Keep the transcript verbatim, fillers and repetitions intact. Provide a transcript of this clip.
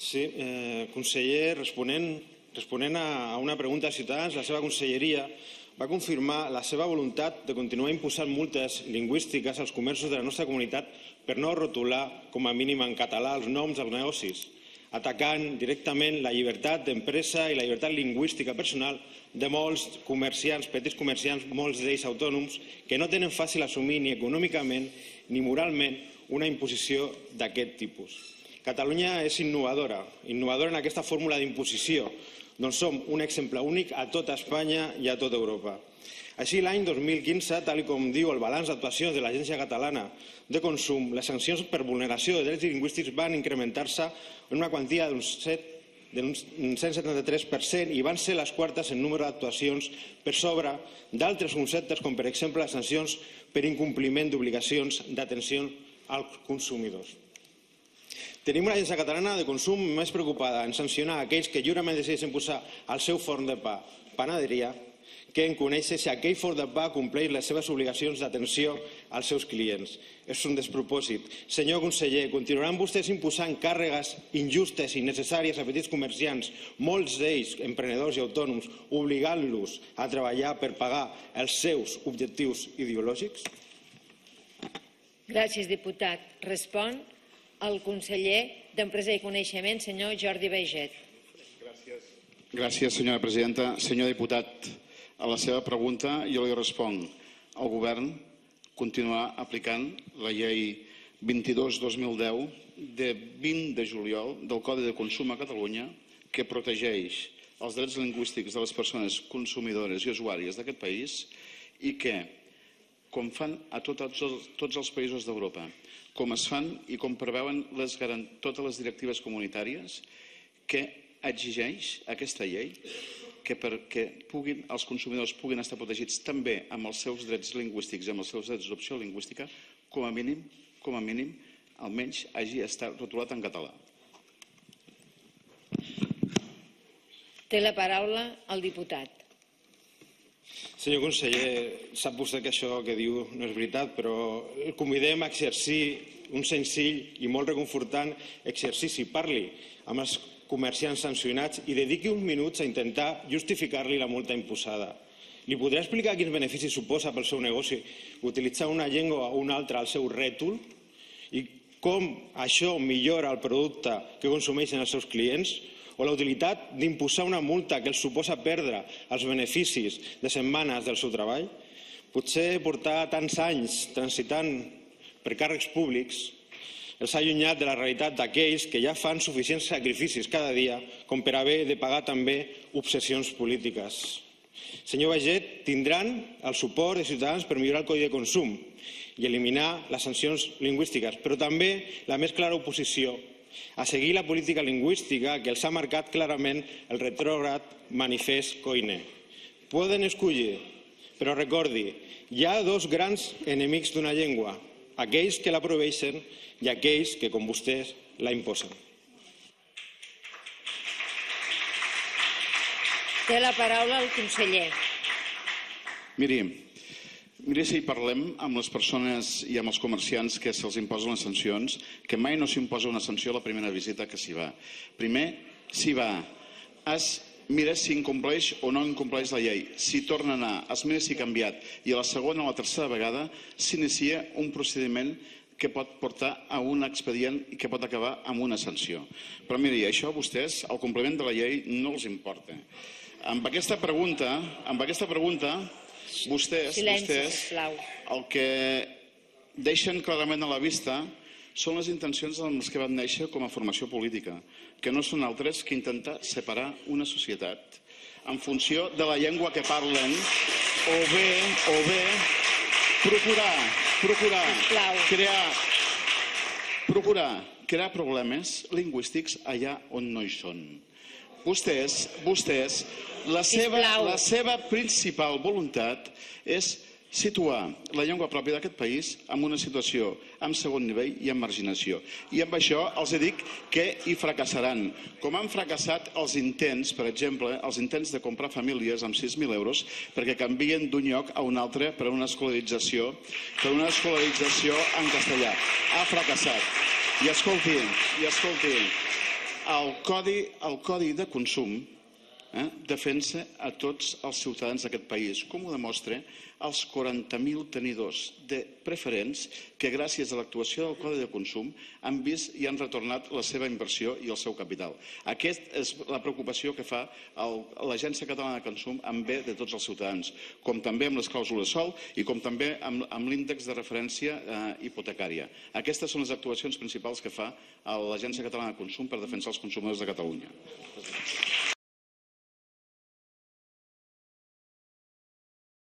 Sí, conseller, responent a una pregunta de Ciutadans, la seva conselleria va confirmar la seva voluntat de continuar imposant multes lingüístiques als comerços de la nostra comunitat per no rotular, com a mínim en català, els noms dels negocis, atacant directament la llibertat d'empresa i la llibertat lingüística personal de molts comerciants, petits comerciants, molts d'ells autònoms, que no tenen fàcil assumir ni econòmicament ni moralment una imposició d'aquest tipus. Catalunya és innovadora, innovadora en aquesta fórmula d'imposició, doncs som un exemple únic a tota Espanya i a tota Europa. Així, l'any dos mil quinze, tal com diu el balanç d'actuacions de l'Agència Catalana de Consum, les sancions per vulneració de drets lingüístics van incrementar-se en una quantia d'un cent setanta-tres per cent i van ser les quartes en número d'actuacions per sobre d'altres conceptes, com per exemple les sancions per incompliment d'obligacions d'atenció als consumidors. Tenim una agència catalana de consum més preocupada en sancionar aquells que lliurement decideixen posar al seu forn de pa panaderia que en conèixer si aquell forn de pa compleix les seves obligacions d'atenció als seus clients. És un despropòsit. Senyor conseller, continuaran vostès imposant càrregues injustes i innecessàries a petits comerciants, molts d'ells emprenedors i autònoms, obligant-los a treballar per pagar els seus objectius ideològics? Gràcies, diputat. Respon el conseller d'Empresa i Coneixement, senyor Jordi Baiget. Gràcies, senyora presidenta. Senyor diputat, a la seva pregunta jo li responc. El govern continuarà aplicant la llei vint-i-dos dos mil deu de vint de juliol del Codi de Consum a Catalunya, que protegeix els drets lingüístics de les persones consumidores i usuàries d'aquest país i que, com fan a tots els països d'Europa, com es fan i com preveuen totes les directives comunitàries, que exigeix aquesta llei que perquè els consumidors puguin estar protegits també amb els seus drets lingüístics i amb els seus drets d'opció lingüística, com a mínim, com a mínim, almenys hagi estat rotulat en català. Té la paraula el diputat. Senyor conseller, sap vostè que això que diu no és veritat, però el convidem a exercir un senzill i molt reconfortant exercici. Parli amb els comerciants sancionats i dediqui uns minuts a intentar justificar-li la multa imposada. Li podrà explicar quins beneficis suposa pel seu negoci utilitzar una llengua o una altra al seu rètol i com això millora el producte que consumeixen els seus clients? O la utilitat d'imposar una multa que els suposa perdre els beneficis de setmanes del seu treball? Potser portar tants anys transitant per càrrecs públics els ha allunyat de la realitat d'aquells que ja fan suficients sacrificis cada dia com per haver de pagar també obsessions polítiques. Senyor Baiget, tindran el suport de Ciutadans per millorar el Codi de Consum i eliminar les sancions lingüístiques, però també la més clara oposició a seguir la política lingüística que els ha marcat clarament el retrògrad manifest Koiné. Poden escollir, però recordi, hi ha dos grans enemics d'una llengua, aquells que la proveeixen i aquells que, com vostès, la imposen. Té la paraula el conseller. Miri, miri si parlem amb les persones i amb els comerciants que se'ls imposen les sancions, que mai no s'imposa una sanció a la primera visita que s'hi va. Primer, s'hi va, es mira si incompleix o no incompleix la llei. Si torna a anar, es mira si ha canviat. I a la segona o la tercera vegada s'inicia un procediment que pot portar a un expedient i que pot acabar amb una sanció. Però miri, això a vostès, el compliment de la llei, no els importa. Amb aquesta pregunta, amb aquesta pregunta, vostès, vostès, el que deixen clarament a la vista són les intencions amb les que van néixer com a formació política, que no són altres que intentar separar una societat en funció de la llengua que parlen o bé, o bé, procurar, procurar crear, procurar crear problemes lingüístics allà on no hi són. Vostès, vostès, la seva, la seva principal voluntat és situar la llengua pròpia d'aquest país en una situació amb segon nivell i amb marginació. I amb això els dic que hi fracassaran. Com han fracassat els intents, per exemple, els intents de comprar famílies amb sis mil euros perquè canvien d'un lloc a un altre per una escolarització, per una escolarització en castellà. Ha fracassat. I escolti, i escolti, el codi, el codi de consum eh, defensa a tots els ciutadans d'aquest país, com ho demostra els quaranta mil tenidors de preferents que gràcies a l'actuació del codi de consum han vist i han retornat la seva inversió i el seu capital. Aquesta és la preocupació que fa l'Agència Catalana de Consum en bé de tots els ciutadans, com també amb les clàusules sòl i com també amb, amb l'índex de referència eh, hipotecària. Aquestes són les actuacions principals que fa l'Agència Catalana de Consum per defensar els consumidors de Catalunya.